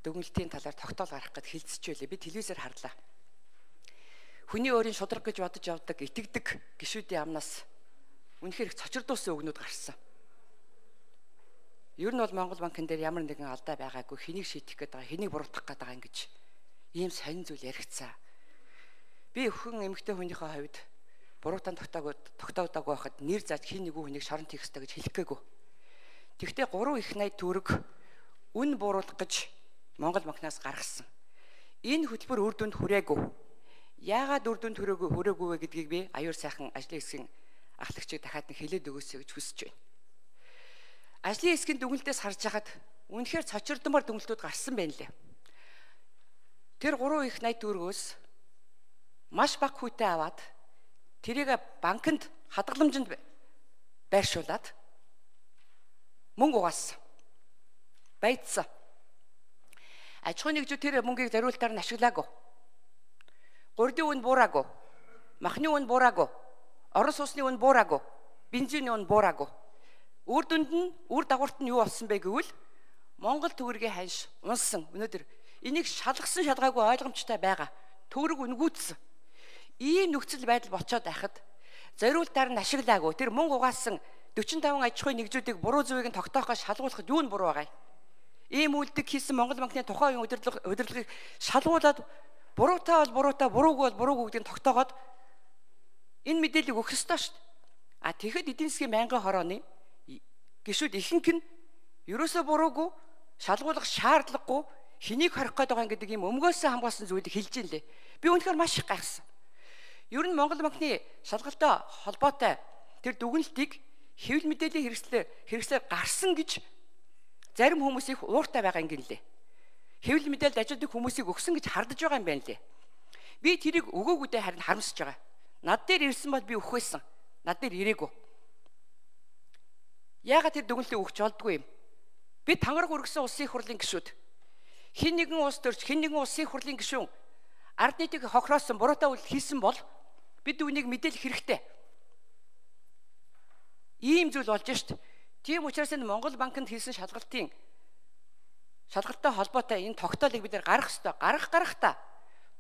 дүгнэлтийн талаар тогтоол гаргах гэд хэлцэж байлээ. Би телевизээр харлаа. Хүний өөрийн шудраг гэж бодож явдаг, итгэдэг гишүүдийн амнаас үнэхээр их цочирдуулсан үгнүүд гарсан. Ер нь бол Монгол банкн дээр ямар нэгэн алдаа байгаагүй, хэнийг шийдэх гээд байгаа, хэнийг буруутгах гээд байгаа ингэж ийм сонин зүйл яригцсан. Би өхөн эмэгтэй хүнийхээ хувьд буруутан тогтоогдоогүй байхад нэр зааж хин нэгэн хүнийг шоронд хийх ёстой гэж хэлэх гээгүй. Тэгвэл 3 их 80 төгрөг үн бууруулах гэж Монгол банкнаас гаргасан. Энэ хөтөлбөр үр дүнд хүрээгүй. Яагаад үр дүнд хүрээгүй вэ гэдгийг би аюур сайхан ажлын хэсгийн ахлагчид дахиад нь хэлээд өгөөсэй гэж хүсэж байна. Ажлын хэсгийн дүгнэлтээс харж хахад үнэхээр цочирдмар дүгнэлтүүд гарсан байна лээ. Тэр 3 их 80 төгрөгөөс маш бага хүүтэй аваад тэрийг банкнд хадгаламжинд байршуулад мөнгө угаасан. Баяжсан. Аж ахуйн нэгжүүд тэр мөнгийг зориултаар нь ашиглаагүй. Гурдын үн буураагүй. Махны үн буураагүй. Орон сууцны үн буураагүй. Бензиний үн буураагүй. Үр дүнд нь үр дагаварт нь юу болсон бэ гэвэл Монгол төгрөгийн ханш унсан. Өнөөдөр энийг шалгасан шалгаагүй ойлгомжтой байгаа. Төгрөг үнгүүцсэн. Ийм нөхцөл байдал болцоод байхад зориултаар нь ашиглаагүй. Тэр мөнгө угаасан 45 аж ахуйн нэгжүүдийг буруу зүвийг нь тогтоохоо шалгуулахад юу нь буруу байгаа юм? Ийм үйлдэл хийсэн Монгол банкны тухайн үеийн удирдлагыг шалгуулад буруутай бол буруутай, буруугүй бол буруугүй гэдгийг тогтоогоод энэ мэдээллийг өгөх ёстой шүү дээ. Тэгэхэд эдийн засгийн байнгын хорооны гишүүд ихэнх нь ерөөсөө буруугүй, шалгуулах шаардлагагүй, хэнийг хорих гээд байгаа гэдэг юм өмгөөсөө хамгаалсан зүйлийг хэлж ин лээ. Би үнэхээр маш их гайхсан. Ер нь Монгол банкны шалгалтай холбоотой тэр дүгнэлтийг хэвлэл мэдээллийн хэрэгслээр гарсан гэж зарим хүмүүс их ууртай байгаа юм гинлээ. Хэвлэл мэдээлэлд ажилладаг хүмүүсийг өгсөн гэж хардаж байгаа юм байна лээ. Би тэрийг өгөөгүйдээ харин харамсаж байгаа. Над дээр ирсэн бол би өгөх байсан. Над дээр ирээгүй. Яагаад тэр дүгнэлтийг өгч олдгүй юм? Би тангараг өргөсөн улсын их хурлын гишүүд. Хин нэгэн улс төрч, хин нэгэн улсын их хурлын гишүүн ард нийтийг хохироосон, буруутай үйл хийсэн бол бид үүнийг мэдээлэх хэрэгтэй. Ийм зүйл болж шít. Тийм учраас энэ Монгол банкнд хийсэн шалгалттай холбоотой энэ тогтоолыг бид гаргах ёстой. Гаргахтаа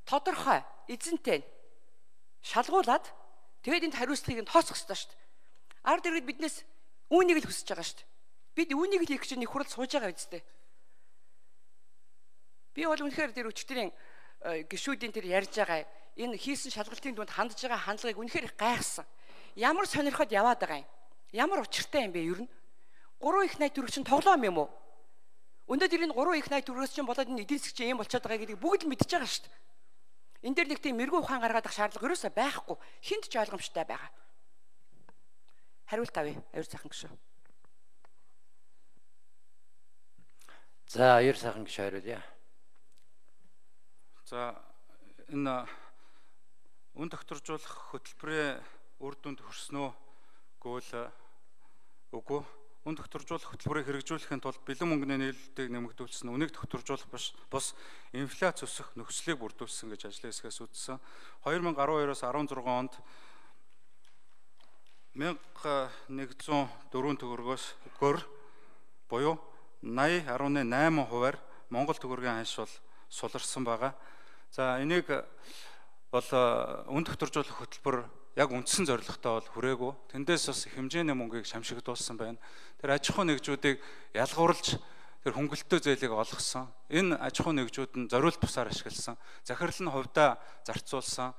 тодорхой, эзэнтэй шалгуулад тэгээд энд хариуцлагыг нь тооцох ёстой шít. Ард иргэд биднээс үүнийг л хүсэж байгаа шít. Бид үүнийг л хийх гэж нэг хурал сууж байгаа үстэй. Би бол үнэхээр тэр өчтөрийн гишүүдийн тэр ярьж байгаа энэ хийсэн шалгалтын дунд хандж байгаа хандлагыг үнэхээр их гайхсан. Ямар сонирхоод яваад байгаа юм? Ямар учиртай юм бэ ер нь? 3 их 80 төгрөг чинь тоглоом юм уу? Өнөөдөр энэ 3 их 80 төгрөгөөс чинь болоод энэ эдийн засгийн юм болчиход байгаа гэдгийг бүгд л мэдчихэж байгаа шүү дээ. Энэ дээр нэг тийм мэрэгүү ухаан гаргаад ах шаардлага ерөөсөө байхгүй. Хинт ч ойлгомжтой байгаа. Хариулт авъя. Аюур сайхан гишүү. За аюур сайхан гишүү хариулъя. За энэ үн тогтворжуулах хөтөлбөрийн үр дүнд хүрснөө гэвэл үгүй. Үн тогтворжуулах хөтөлбөрийг хэрэгжүүлэхийн тулд бэлэн мөнгөний нийлүүлэлтийг нэмэгдүүлсэн, үнийг тогтворжуулах бус инфляц өсөх нөхцөлийг бүрдүүлсэн гэж ажлын хэсгээс үзсэн. 2012-оос 16 онд 1104 төгрөгөөс буюу 80.8%-аар Монгол төгрөгийн ханш бол суларсан байгаа. За энийг бол үн тогтворжуулах хөтөлбөр яг үндсэн зорилготой бол хүрээгүй. Тэндээс бас хэмжээний мөнгийг шамшигдуулсан байна. Тэр аж ахуй нэгжүүдийг ялгуурлаж тэр хөнгөлөлтөө зээлийг олгосон. Энэ аж ахуй нэгжүүд нь зориулт бусаар ашигласан. Захирал нь хувьдаа зарцуулсан.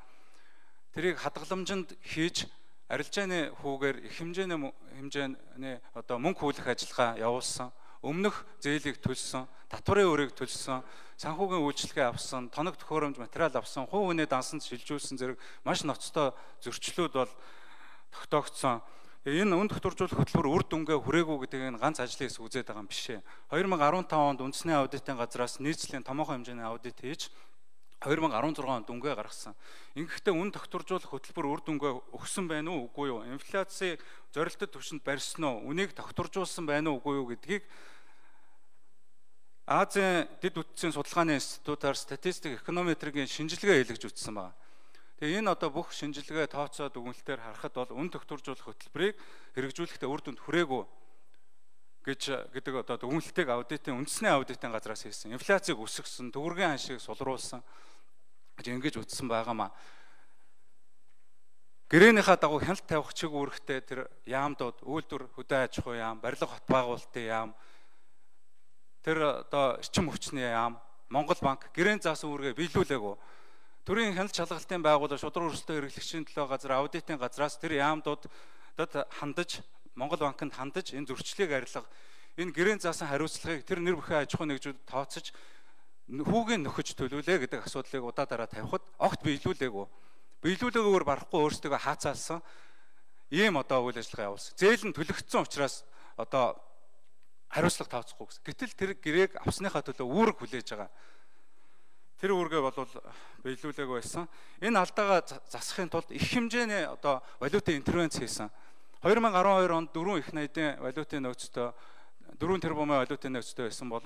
Тэрийг хадгаламжинд хийж арилжааны хүүгээр их хэмжээний одоо мөнгө хүүлэх ажиллагаа явуулсан. Өмнөх зээлийг төлсөн, татварын өрийг төлсөн, санхүүгийн үйлчлэгээ авсан, тоног төхөөрөмж материал авсан, хувь хүний дансанд шилжүүлсэн зэрэг маш ноцтой зөрчлүүд бол тогтоогдсон. Энэ үн тогтворжуулах хөтөлбөр үр дүнгээ хүрээгүй гэдгийг ганц ажлын хэсэг үзээд байгаа юм биш ээ. 2015 онд үндэсний аудитын газраас нийслэлийн томоохон хэмжээний аудит хийж 2016 онд дүнгээ гаргасан. Ингэхдээ үн тогтворжуулах хөтөлбөр үр дүнгээ өгсөн байна уу үгүй юу? Инфляцийг зорилттой түвшинд барьсан уу? Үнийг тогтворжуулсан байна уу үгүй юу гэдгийг Азийн дэд үтцийн судалгааны институтаар статистик эконометрийн шинжилгээ хийлгэж үзсэн байна. Тэгээ энэ одоо бүх шинжилгээ тооцоо дүгнэлтээр харахад бол үн тогтворжуулах хөтөлбөрийг хэрэгжүүлэхдээ үр дүнд хүрээгүй гэдэг одоо дүгнэлтийг аудитын үндэсний аудитын газраас хийсэн. Инфляцийг өсгсөн, төгрөгийн ханшийг сулруулсан гэж ингэж үзсэн байгаамаа. Гэрээнийхээ дагуу хяналт тавих чиг үүрэгтэй тэр яамдууд үйлдвэр хөдөө аж ахуй яам, барилга хот байгуулалтын яам, тэр одоо эрчим хүчний яам, Монгол банк гэрээний заасан үүргээ биелүүлээгүй. Төрийн хяналт шалгалтын байгууллага, шудраг өрсөлдөөн хэрэглэгчийн төлөө газар, аудитын газраас тэр яамдуудад хандаж, Монгол банкнд хандаж энэ зөрчлийг арилга, энэ гэрээний заасан хариуцлагыг тэр нэр бүхэн аж ахуй нэгжүүд тооцож хүүгийн нөхөж төлүүлээ гэдэг асуудлыг удаа дараа тавихад огт биелүүлээгүй. Биелүүлээгүйгээр барахгүй өөрсдөө хаацаалсан ийм одоо үйл ажиллагаа явуулсан. Зээл нь төлөгдсөн учраас одоо хариуцлага тооцохгүй гэсэн. Гэтэл тэр гэрээг авсныхаа төлөө үүрэг хүлээж байгаа. Тэр үүргээ бол биелүүлээгүй байсан. Энэ алдаагаа засахын тулд их хэмжээний одоо валютын интервенц хийсэн. 2012 онд 4 их найдын валютын нөөцтэй 4 тэрбумын валютын нөөцтэй байсан бол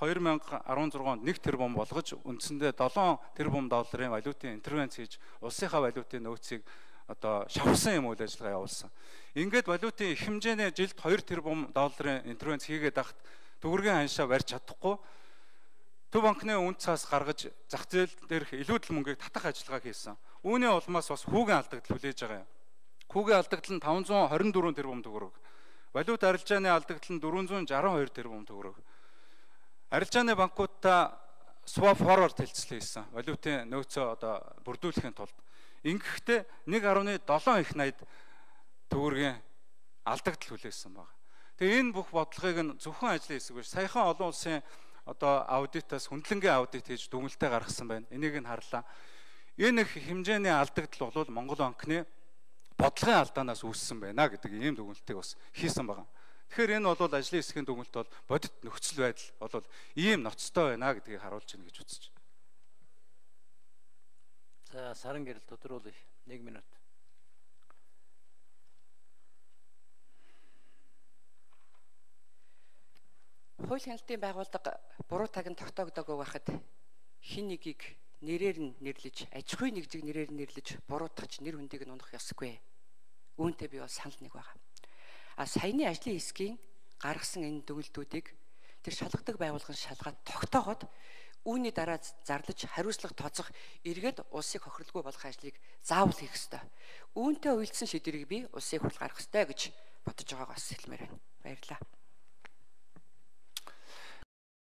2016 онд 1 тэрбум болгож үндсэндээ 7 тэрбум долларын валютын интервенц хийж улсынхаа валютын нөөцийг одоо шавхсан юм үйл ажиллагаа явуулсан. Ингээд валютын их хэмжээний жилд 2 тэрбум долларын интервенц хийгээд ахт төгрөгийн ханшаа барьж чадахгүй Төв банкны үнд цаас гаргаж зах зээл дээрх илүүдэл мөнгийг татах ажиллагаа хийсэн. Үүний улмаас бас хүүгийн алдагдал хүлээж байгаа юм. Хүүгийн алдагдал нь 524 тэрбум төгрөг. Валют арилжааны алдагдал нь 462 тэрбум төгрөг. Арилжааны банкудаа swap forward хэлцэл хийсэн. Валютын нөөцөө одоо бүрдүүлэхийн тулд. Ингэхдээ 1.7 их найд төгрөгийн алдагдал хүлээсэн байна. Тэгээ энэ бүх бодлогыг нь зөвхөн ажлын хэсэг биш. Саяхан олон улсын одоо аудитаас хүндлэнгийн аудит хийж дүгнэлтээ гаргасан байна. Энийг нь харлаа. Энэ их хэмжээний алдагдал бол Монгол банкны бодлогын алдаанаас үүссэн байна гэдэг ийм дүгнэлтийг бас хийсэн байна. Тэгэхээр энэ бол ажлын хэсгийн дүгнэлт бол бодит нөхцөл байдал бол ийм ноцтой байна гэдгийг харуулж байна гэж үзэж байна. За саран гэрэл тодруулъя. 1 минут. Хууль хяналтын байгууллага буруу тагнд тогтоогдоогүй байхад хин нэгийг нэрээр нь нэрлэж, аж ахуй нэгжийг нэрээр нь нэрлэж буруутгаж нэр хүндийг нь унах ёсгүй. Үүнтэй би бол санал нэг байгаа. Саяны ажлын хэсгийн гаргасан энэ дүгнэлтүүдийг тэр шалгадаг байгууллагын шалгаад тогтооход үүний дараа зарлаж хариуцлага тооцох эргээд улсыг хохирлгүй болох ажлыг заавал хийх ёстой. Үүнтэй уялдсан шийдвэрийг би улсын хурл гаргах ёстой гэж бодож байгаагаа бас хэлмээр байна. Баярлалаа.